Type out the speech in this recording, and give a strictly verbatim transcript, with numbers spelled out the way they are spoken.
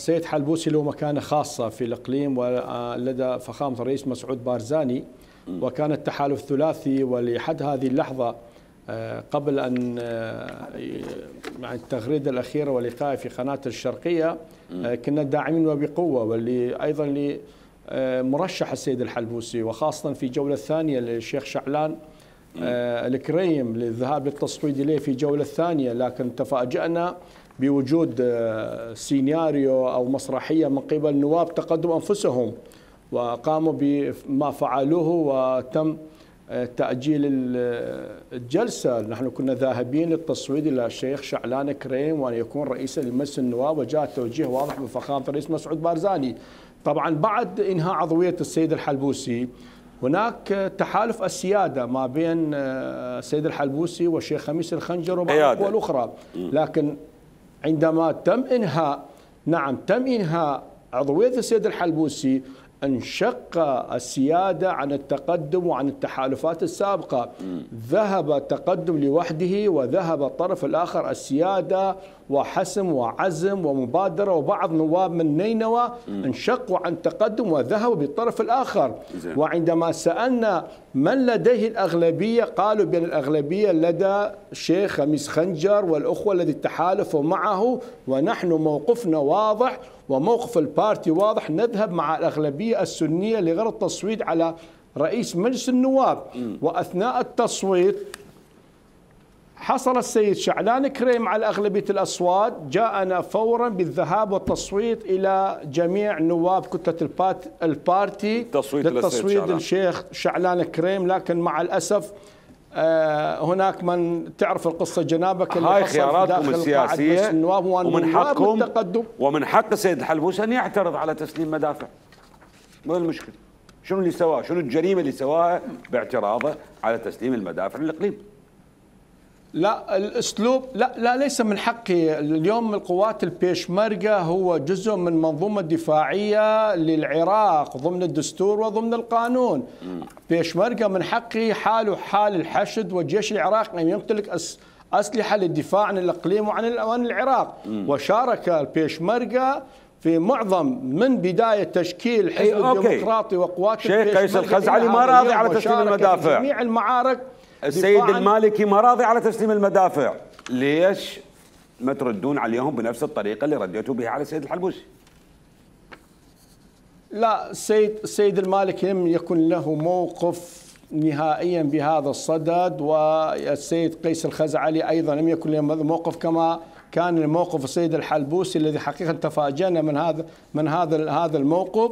سيد حلبوسي له مكانة خاصة في الإقليم ولدى فخامة الرئيس مسعود بارزاني، وكان التحالف ثلاثي، ولحد هذه اللحظة قبل أن مع التغريدة الأخيرة ولقائي في قناة الشرقية كنا داعمين وبقوة، واللي أيضا لمرشح السيد الحلبوسي، وخاصة في جولة الثانية للشيخ شعلان الكريم للذهاب للتصويت إليه في جولة الثانية، لكن تفاجأنا بوجود سيناريو أو مسرحية من قبل النواب تقدم أنفسهم وقاموا بما فعلوه وتم تأجيل الجلسة. نحن كنا ذاهبين للتصويت إلى الشيخ شعلان كريم وأن يكون رئيسا لمجلس النواب، وجاء توجيه واضح من فخامة الرئيس مسعود بارزاني. طبعا بعد إنهاء عضوية السيد الحلبوسي هناك تحالف السيادة ما بين السيد الحلبوسي والشيخ خميس الخنجر وبعض القوى الأخرى، لكن عندما تم إنهاء نعم تم إنهاء عضوية السيد الحلبوسي انشق السيادة عن التقدم وعن التحالفات السابقة. ذهب التقدم لوحده وذهب الطرف الآخر السيادة وحسم وعزم ومبادرة، وبعض نواب من نينوى انشقوا عن التقدم وذهبوا بالطرف الآخر. وعندما سألنا من لديه الأغلبية قالوا بأن الأغلبية لدى الشيخ خميس خنجر والأخوة الذي تحالفوا معه، ونحن موقفنا واضح وموقف البارتي واضح، نذهب مع الأغلبية السنية لغرض التصويت على رئيس مجلس النواب. وأثناء التصويت حصل السيد شعلان كريم على أغلبية الأصوات، جاءنا فورا بالذهاب والتصويت إلى جميع نواب كتلة البارتي للتصويت للشيخ شعلان كريم. لكن مع الأسف هناك من تعرف القصة جنابك اللي هاي خياراتكم السياسية ومن حقكم ومن حق السيد الحلبوسي أن يعترض على تسليم مدافع. ما المشكلة؟ شنو اللي سواه؟ شنو الجريمة اللي سواها باعتراضه على تسليم المدافع للإقليم؟ لا الاسلوب لا لا ليس من حقي. اليوم القوات البيشمركة هو جزء من منظومة دفاعية للعراق ضمن الدستور وضمن القانون. بيشمركة من حقه حاله حال الحشد والجيش العراقي أن يمتلك أس أسلحة للدفاع عن الإقليم وعن وعن العراق. وشارك البيشمركة في معظم من بداية تشكيل الحزب الديمقراطي وقوات البيشمركة. شيخ قيس الخزعلي ما راضي على تسليم المدافع. جميع المعارك السيد المالكي ما راضي على تسليم المدافع. ليش ما تردون عليهم بنفس الطريقة اللي رديتوا بها على السيد الحلبوسي؟ لا، السيد السيد المالكي لم يكن له موقف نهائيا بهذا الصدد، والسيد قيس الخزعلي أيضا لم يكن له موقف كما كان موقف السيد الحلبوسي الذي حقيقة تفاجأنا من هذا من هذا هذا الموقف.